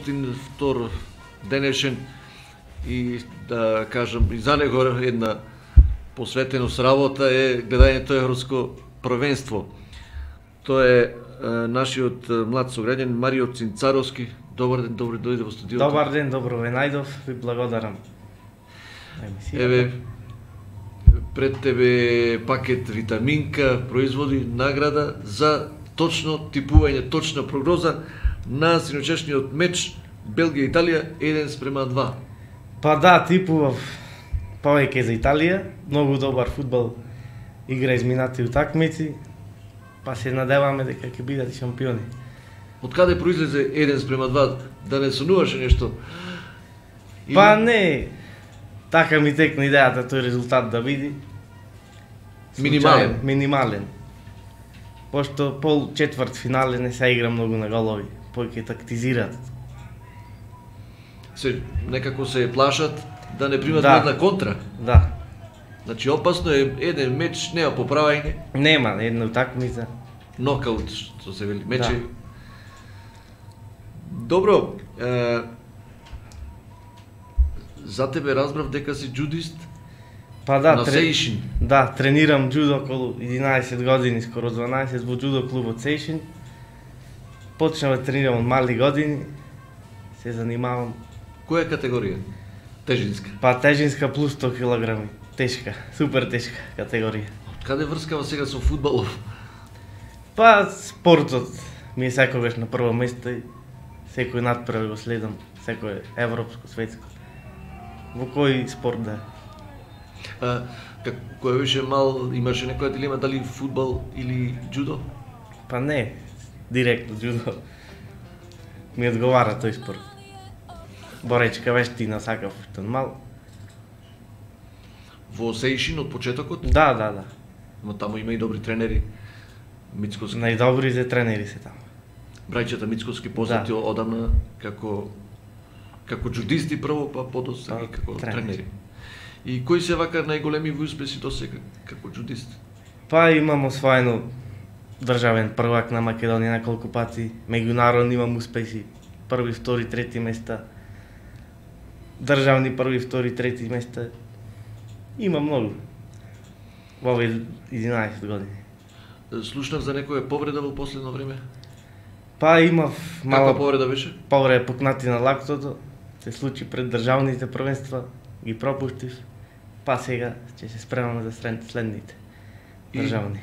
Мартин втор денешен и да кажам и за него една посветеност работа е гледањето европско првенство. Тоа е нашиот млад сограѓанин Марио Цинцаровски. Добар ден, добро дојде во студиото. Добар ден, добро ве најдов, ви благодарам. Еве, пред тебе пакет витаминка, производи награда за точно типување, точна прогноза на синочешниот меч Белгија-Италија 1:2. Па да, типував повеќе за Италија, многу добар фудбал игра изминати утакмици, па се надеваме дека ќе бидат шампиони. Од каде произлезе 1:2? Да не сонуваше нешто? Па не, така ми текна идејата тој резултат да биде. Минимален. Минимален. Пошто пол четврт финале не се игра многу на голови, повеќе тактизираат. Се некако се плашат да не примат една контра. Да. Значи опасно е еден меч, нема поправање. Нема, една утакмица. Нокаут, што се вели, мечи. Да. Добро, за тебе разбрав дека си джудист. Па да, на Сеишин. Да, тренирам джудо околу 11 години, скоро 12 во джудо клубот Сеишин. Почнав да тренирам од мали години, се занимавам. Која категорија? Тежинска? Па тежинска плюс 100 килограми. Тешка, супер тешка категорија. Од каде врскава сега со фудбалов? Па спортот ми е секогаш на прво место и секој надпревар го следам, секој европско, светско. Во кој спорт да е. Кој беше мал, имаше некоја дилема дали фудбал или джудо? Па не, директно джудо. Ми одговара тој спорт. Боречка вештина сакав што мал. Во Сеишин од почетокот? Да. Но таму има и добри тренери. Мицковски. Најдобрите тренери се таму. Браќата Мицковски познати одамна како джудисти прво, па подосега и како тренери. И кои се вака најголеми успеси до сега како джудист? Па имам освоено државен првак на Македонија неколку пати, меѓународни имам успеси, први, втори, трети места, државни први, втори, трети места. Има многу во овие 11 години. Слушнав за некоја повреда во последно време? Па имав мала повреда беше? Повреда пукнати на лактото, се случи пред државните првенства, ги пропуштив, па сега ќе се спремаме за следните државни.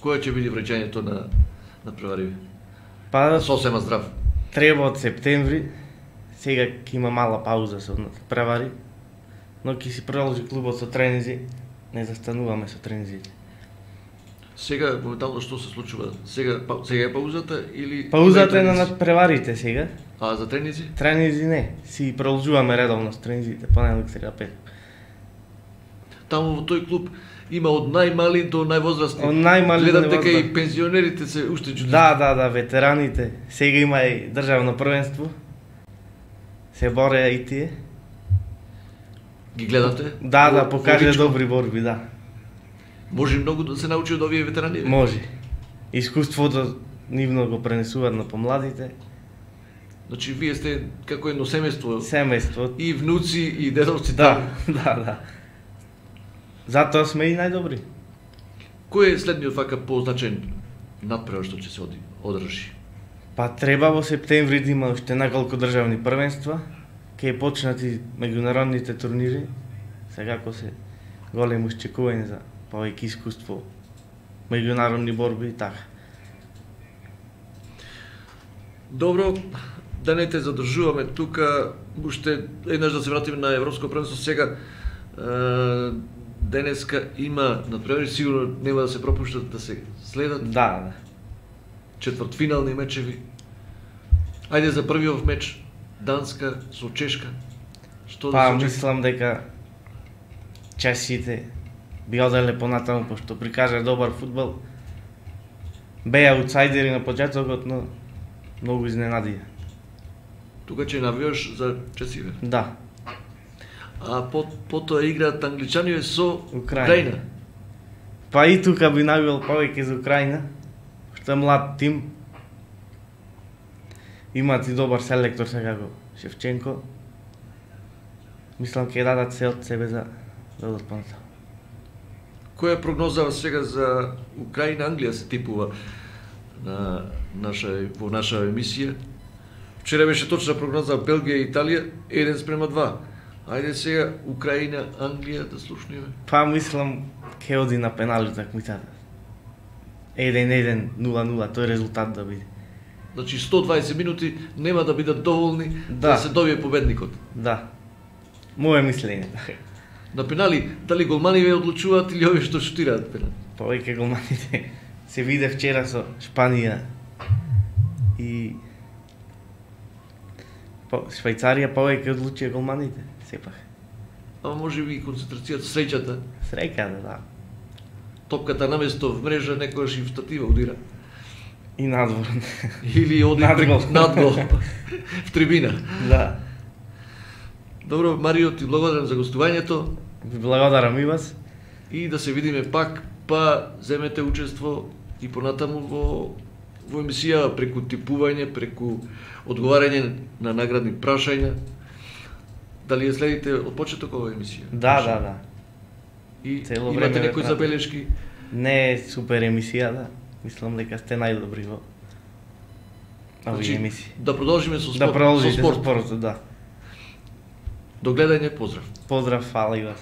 Која ќе биде враќањето на надпревариве? Па сосема здрав. Треба од септември, сега ќе има мала пауза со надпревари, но ќе си продолжи клубот со тренинзи, не застануваме со тренинзите. Сега моментално што се случува? Сега е паузата или паузата е на надпреварите сега? А за тренинзи? Тренинзи не, си продолжуваме редовно с тренинзите, понеделник, среда, петок. Таму во тој клуб има од најмали до највозрастни. Од најмали до гледам дека и пензионерите се уште джудисти. Да, ветераните. Сега има и државно првенство. Се бореа и тие. Ги гледате? Да, покажа добри борби, да. Може многу да се научи од овие ветерани? Може. Искуството нивно го пренесуваат на помладите. Значи вие сте како едно семејство. Семејство. И внуци и дедовци. Да. Затоа сме и најдобри. Кој е следниот вака позначен надпревар што ќе се одржи? Па треба во септември да има уште неколку државни првенства. Ќе почнати меѓународните турнири. Сега ко се големо очекување за повеќе искуство, меѓународни борби и така. Добро, да не те задржуваме тука, уште еднаш да се вратиме на Европско првенство. Сега денеска има надпревари, сигурно нема да се пропуштат да се следат. Да. Четвртфинални мечеви. Ајде за првиот меч Данска со Чешка. Што па, да се мислам дека чешците би оделе понатаму, пошто прикажа добар фудбал. Беа аутсайдери на почетокот, но многу изненадија. Тука ќе навијаш за чесиве? Да. А потоа играат англичани со Украина. Па и тука би навијал повеќе за Украина, што е млад тим. Имаат и добар селектор сега како Шевченко. Мислам ќе дадат се од себе за да одат понатаму. Која е прогноза сега за Украина, Англија се типува во наша емисија? Вчера беше точна прогноза Белгија и Италија 1:2. Ајде сега Украина, Англија да слушнеме. Па мислам ќе оди на пенали такмицата. 1-1, 0-0, тој резултат да биде. Значи 120 минути нема да бидат доволни да се добие победникот. Да. Моје мислење. На пенали, дали голманиве одлучуваат или овие што шутираат пенали? Повеќе голманите се виде вчера со Шпанија и Швајцарија повеќе одлучија голманите, сепак. Ама може би и концентрацијата, среќата. Среќата, да. Топката наместо в мрежа некојаш и в статива удира. И надвор. Или оди надгол в трибина. Да. Добро, Марио, ти благодарам за гостувањето. Ви благодарам и вас. И да се видиме пак, па земете учество и понатаму во емисија преку типување, преку одговарање на наградни прашања. Дали ја следите од почеток оваа емисија? Да. И цело имате време некои забелешки? Не е супер емисија, да. Мислам дека сте најдобри во овие емисии. Да продолжиме со спорт. Да продолжите со спортот, да. До гледање, поздрав. Поздрав, фала и вас.